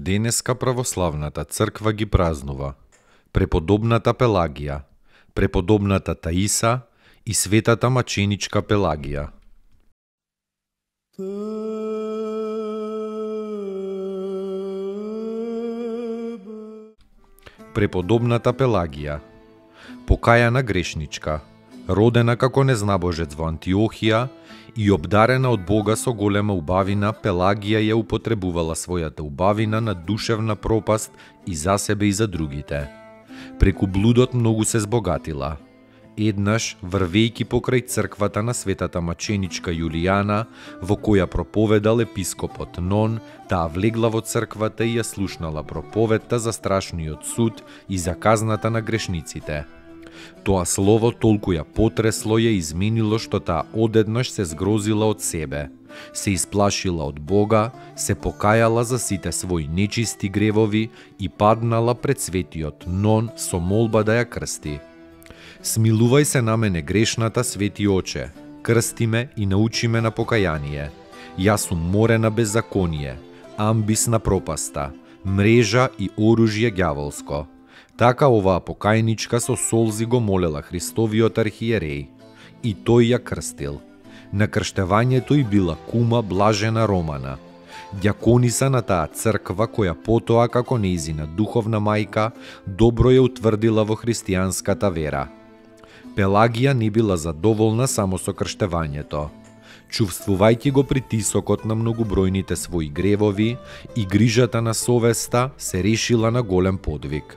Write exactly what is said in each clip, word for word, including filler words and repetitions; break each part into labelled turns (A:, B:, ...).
A: Денеска православната црква ги празнува преподобната Пелагија, преподобната Таиса и светата маченичка Пелагија. Преподобната Пелагија, покајана грешничка, родена како незнабожец во Антиохија и обдарена од Бога со голема убавина, Пелагија ја употребувала својата убавина на душевна пропаст и за себе и за другите. Преку блудот многу се збогатила. Еднаш, врвејки покрај црквата на светата маченичка Јулијана, во која проповедал епископот Нон, таа влегла во црквата и ја слушнала проповедта за страшниот суд и за казната на грешниците. Тоа слово толку ја потресло, ја изменило, што таа одеднаш се згрозила од себе, се исплашила од Бога, се покајала за сите своји нечисти гревови и паднала пред светиот Нон со молба да ја крсти. Смилувај се на мене грешната, свети оче, крсти ме и научи ме на покаяние. Јас сум море на беззаконие, амбис на пропаста, мрежа и оружје ѓаволско. Така оваа покајничка со солзи го молела Христовиот архиереј, и тој ја крстил. На крштевањето и била кума блажена Романа, дјакониса на таа црква која потоа како нејзина духовна мајка добро ја утврдила во христијанската вера. Пелагија не била задоволна само со крштевањето. Чувствувајќи го притисокот на многобројните своји гревови и грижата на совеста, се решила на голем подвиг.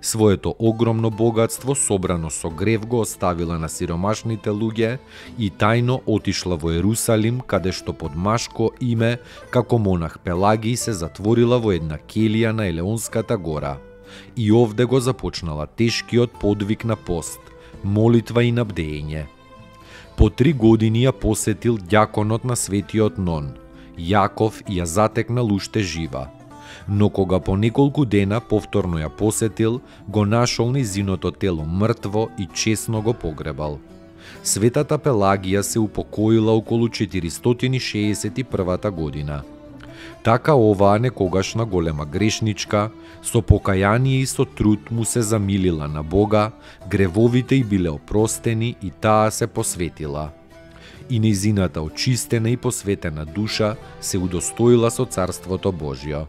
A: Своето огромно богатство, собрано со грев, го оставила на сиромашните луѓе и тајно отишла во Ерусалим, каде што под машко име, како монах Пелагиј, се затворила во една келија на Елеонската гора. И овде го започнала тешкиот подвиг на пост, молитва и набдење. По три години ја посетил ѓаконот на светиот Нон, Јаков, и ја затекнал уште жива. Но кога по неколку дена повторно ја посетил, го нашол нејзиното тело мртво и чесно го погребал. Светата Пелагија се упокоила околу четиристотини шеесет и првата година. Така оваа некогашна голема грешничка, со покаяние и со труд му се замилила на Бога, гревовите й биле опростени и таа се посветила. И нејзината очистена и посветена душа се удостоила со Царството Божјо.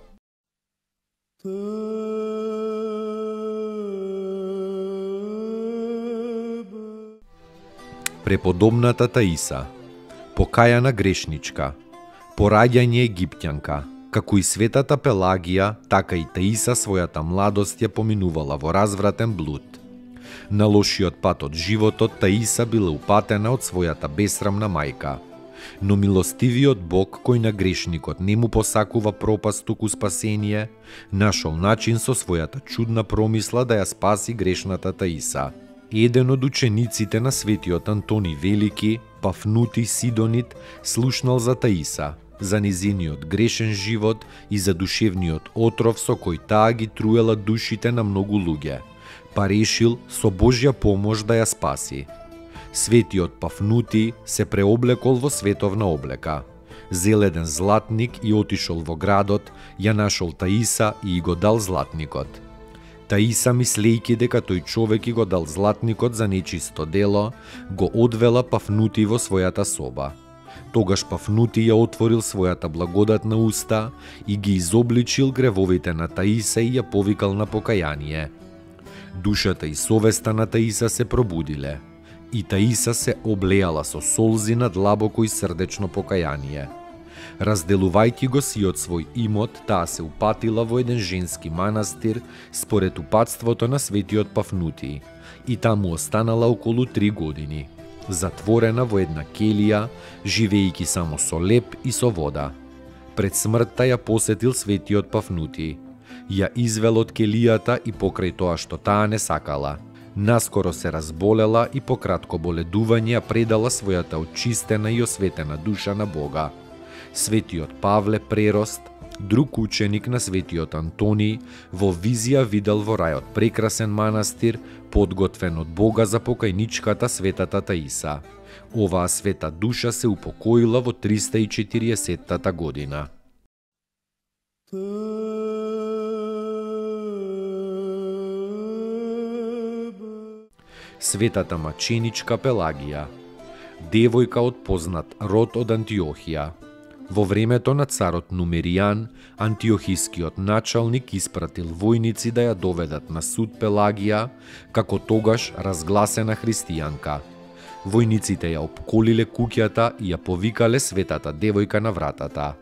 A: Преподобната Таиса, покајана грешничка, пораѓање египтјанка, како и светата Пелагија, така и Таиса својата младост ја поминувала во развратен блуд. На лошиот пат од животот Таиса била упатена од својата бесрамна мајка. Но милостивиот Бог, кој на грешникот не му посакува пропаст, туку спасение, нашол начин со својата чудна промисла да ја спаси грешната Таиса. Еден од учениците на светиот Антони Велики, Пафнути Сидонит, слушнал за Таиса, за незиниот грешен живот и за душевниот отров со кој таа ги труела душите на многу луѓе, па решил со Божја помош да ја спаси. Светиот Пафнути се преоблекол во световна облека, зел еден златник и отишол во градот, ја нашол Таиса и го дал златникот. Таиса, мислејќи дека тој човек и го дал златникот за нечисто дело, го одвела Пафнути во својата соба. Тогаш Пафнути ја отворил својата благодатна уста и ги изобличил гревовите на Таиса и ја повикал на покаяние. Душата и совеста на Таиса се пробудиле, и Таиса се облеала со солзи на длабоко и срдечно покаяние. Разделувајќи го сиот свој имот, таа се упатила во еден женски манастир според упатството на светиот Пафнутий и таму останала околу три години. затворена во една келија, живејќи само со леп и со вода. Пред смртта ја посетил светиот Пафнутий. Ја извел од келијата и покрај тоа што таа не сакала. Наскоро се разболела и по кратко боледување ја предала својата очистена и осветена душа на Бога. Светиот Павле Прерост, друг ученик на светиот Антоний, во визија видел во рајот прекрасен манастир, подготвен од Бога за покајничката светата Таиса. Оваа света душа се упокоила во триста и четириесеттата година. Светата маченичка Пелагија, девојка од познат род од Антиохија. Во времето на царот Нумеријан, антиохискиот началник испратил војници да ја доведат на суд Пелагија, како тогаш разгласена христијанка. Војниците ја опколиле куќата и ја повикале светата девојка на вратата.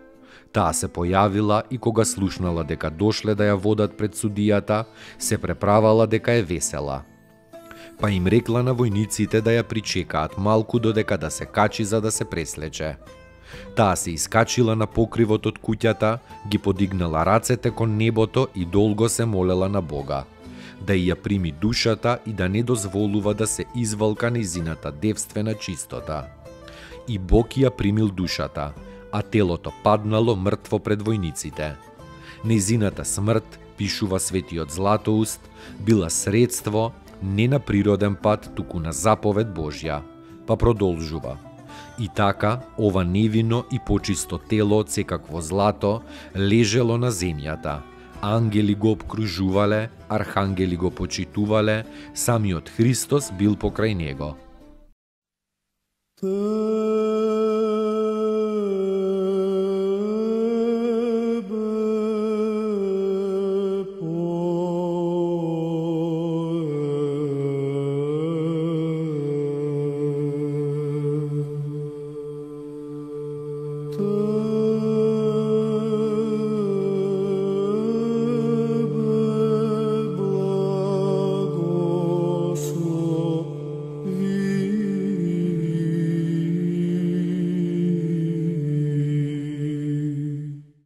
A: Таа се појавила и кога слушнала дека дошле да ја водат пред судијата, се преправала дека е весела. Па им рекла на војниците да ја причекаат малку додека да се качи за да се преслече. Таа се искачила на покривот од куќата, ги подигнала рацете кон небото и долго се молела на Бога, да ја прими душата и да не дозволува да се извалка нејзината девствена чистота. И Бог ја примил душата, а телото паднало мртво пред војниците. Нејзината смрт, пишува светиот Златоуст, била средство не на природен пат, туку на заповед Божја. Па продолжува. И така, ова невино и почисто тело од секакво злато лежело на земјата. Ангели го обкружувале, архангели го почитувале, самиот Христос бил покрај него.
B: To